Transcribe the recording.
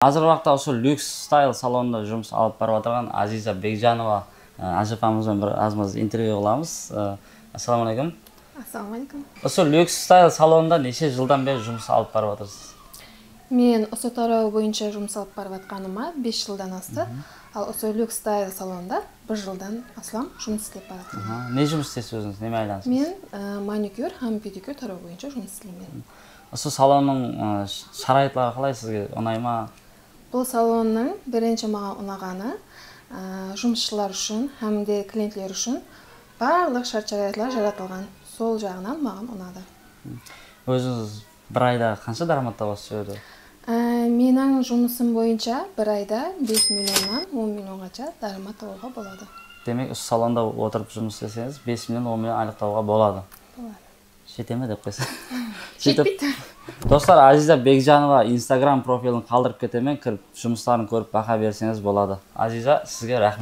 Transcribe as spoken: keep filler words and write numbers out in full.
Азыр убакта ошол люкс стайл салонунда жумуш алып барып атырган Азиза Бекжанова ажапамыз менен бир аз маз интервью кылабыз. Ассаламу алейкум. Ассаламу алейкум. Ошол люкс стайл салонунда нече жылдан бери жумуш алып барып атырсыз? Мен Осо тарабы боюнча жумуш алып барып атканыма беш жылдан асты. Ал Осо люкс стайл салонунда бир жылдан аслам жумуш иштеп баратам. Не жумуш истейсиз өзүңүз? Неме айланасыз? Мен маникюр һәм педикюр тарабы боюнча жумуш иштейм. Ошо салондун шарайытлары калай, сизге оонайбы? Бул салондун биринчи мага унаганы жумушчулар үчүн һәмде клиентлер үчүн барлык шарт-шарайытлар жаратылган. Сол жагынан мага унады. Өзүңүз бир айда канча дарамат табасыз жерде? Менин жумушум боюнча бир айда беш миллиондан он миллионгача дарамат табууга болот. Демек, ушу салонда отуруп жумуш істесеңиз беш миллион он миллион айлык табууга болот. Болот. Жетеме деп койсо. Жетпейт. Достор, Азиза Бекжанова Instagram профилин калтырып кетемен, кирип жумуштарын көрүп бака берсеңиз болот. Азиза, сизге рахмет.